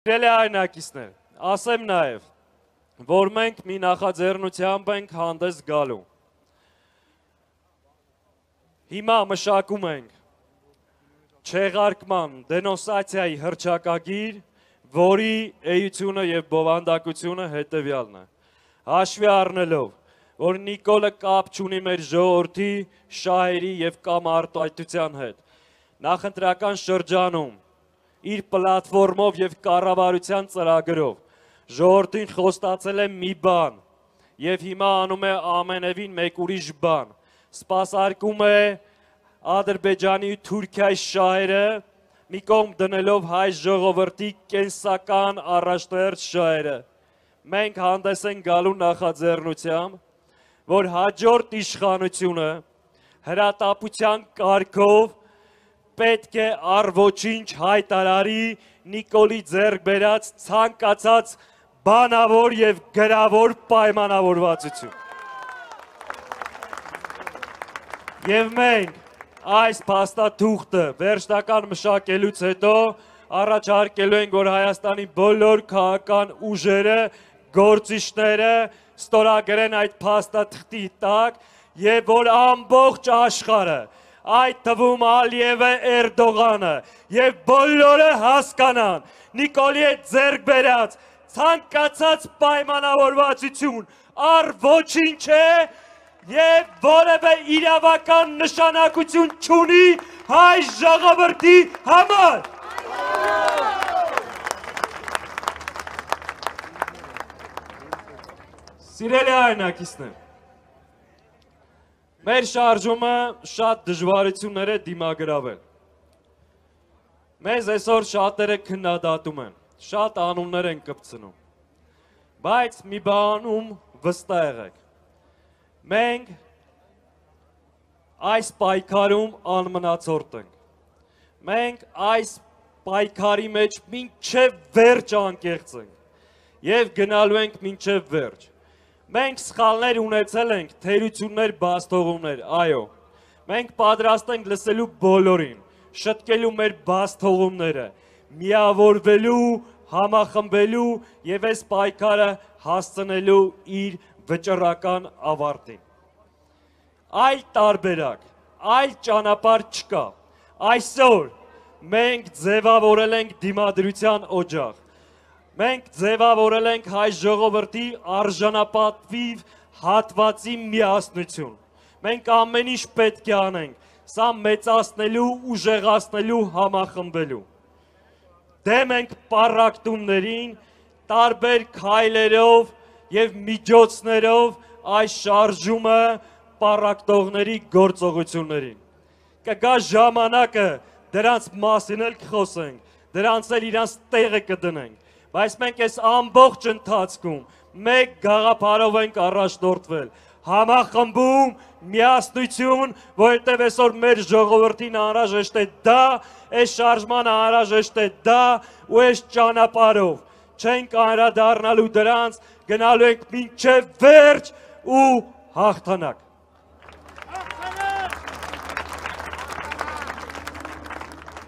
Սիրելի հայրենակիցներ, ասեմ նաև, որ մենք մի նախաձեռնությամբ ենք հանդես գալու։ Հիմա մշակում ենք չեղարկման դենոնսացիայի հռչակագիր, որի էությունը և բովանդակությունը հետևյալն է։ Հաշվի առնելով, որ Նիկոլը կապ չունի մեր ժողովրդի, շահերի և կամ արտահայտության հետ, նախընտրական շրջանում իր պլատֆորմով և կառավարության ծրագրով ժողովրդին խոստացել է մի բան և հիմա անում է ամենևին մեկ ուրիշ բան, սպասարկում է Ադրբեջանի ու Թուրքիայի շահերը մի կողմ դնելով հայ ժողովրդի կենսական առաջնահերթ շահերը։ Մենք հանդես ենք գալու նախաձեռնությամբ, որ հաջորդ իշխանությունը հրատապության կարգով պետք է առ ոչինչ հայտարարի Նիկոլի ձեռք բերած ցանկացած բանավոր և գրավոր պայմանավորվածություն։ Եվ մենք այս փաստաթուղթը վերջնական մշակելուց հետո առաջարկելու ենք, որ Հայաստանի բոլոր քաղաքական ուժերը, գործիչները ստորագրեն այդ փաստաթղթի տակ և որ ամբողջ աշխարհը, այդ թվում Ալիևը, Էրդողանը և բոլորը հասկանան Նիկոլի հետ ձեռք բերած ցանկացած պայմանավորվածություն առ ոչինչ է և որևէ իրավական նշանակություն չունի հայ ժողովրդի համար։ Սիրելի հայրենակիցներ, մեր շարժումը շատ դժվարություններ է դիմագրավել։ Մեզ այսօր շատերը քննադատում են, շատ անուններ են կպցնում, բայց մի բանում վստահ եղեք, մենք այս պայքարում անմնացորդ ենք, մենք այս պայքարի մեջ մինչև վերջ անկեղծ ենք և գնալու ենք մինչև վերջ։ Մենք սխալներ ունեցել ենք, թերություններ, բացթողումներ, այո, մենք պատրաստ ենք լսելու բոլորին, շտկելու մեր բացթողումները, միավորվելու, համախմբելու և այս պայքարը հասցնելու իր վճռական ավարտին։ Այլ տարբերակ, այլ ճանապարհ չկա։ Այսօր մենք ձևավորել ենք դիմադրության օջախ։ Մենք ձևավորել ենք հայ ժողովրդի արժանապատվիվ հատվածի միասնություն։ Մենք ամեն ինչ պետք է անենք, սա մեծացնելու, ուժեղացնելու, համախմբելու։ Դեմ ենք պառակտումներին, տարբեր քայլերով և միջոցներով այս շարժումը պառակտողների գործողություններին։ Կգա ժամանակը, դրանց մասին էլ կխոսենք, դրանց էլ իրանց տեղը կդնենք, բայց մենք այս ամբողջ ընթացքում մեկ գաղափարով ենք առաջնորդվել, համախմբում, միասնություն, որովհետև այսօր մեր ժողովրդին անհրաժեշտ է դա, այս շարժմանը անհրաժեշտ է դա ու այս ճանապարհով չենք անդրադառնալու դրանց, գնալու ենք մինչև վերջ ու հաղթանակ։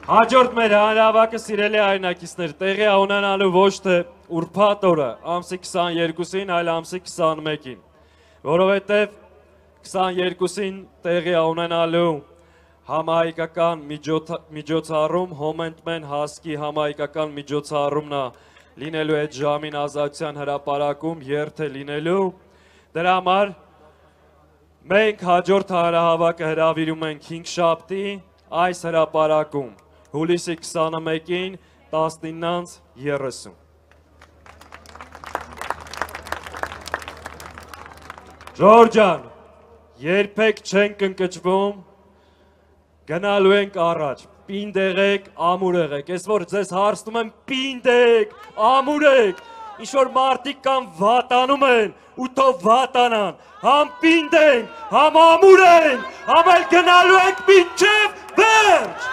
Հաջորդ մեր հանրահավաքը, սիրելի հայրենակիցներ, տեղի է ունենալու ոչ թե ուրբաթ օրը, ամսի 22-ին, այլ ամսի 21-ին, որովհետև 22-ին տեղի է ունենալու համահայկական միջոցառում, Հոմենտմեն հասկի համահայկական միջոցառումն է լինելու այդ ժամին Ազատության հրապարակում, երթ է լինելու, դրա համար մենք հաջորդ հանրահավաքը հրավիրում ենք 5-շաբթի այս հրապարակում, հուլիսի 21-ին 19:30։ Ժողովուրդ ջան, երբեք չենք ընկճվում, գնալու ենք առաջ, պինդ եղեք, ամուր եղեք, ես որ ձեզ հարցնում եմ պինդ եք, ամուր եք, ինչ-որ մարդիկ կան վատանում են ու թող վատանան, համ պինդ ենք, համ ամուր ենք, համ էլ գնալու ենք մինչև վերջ։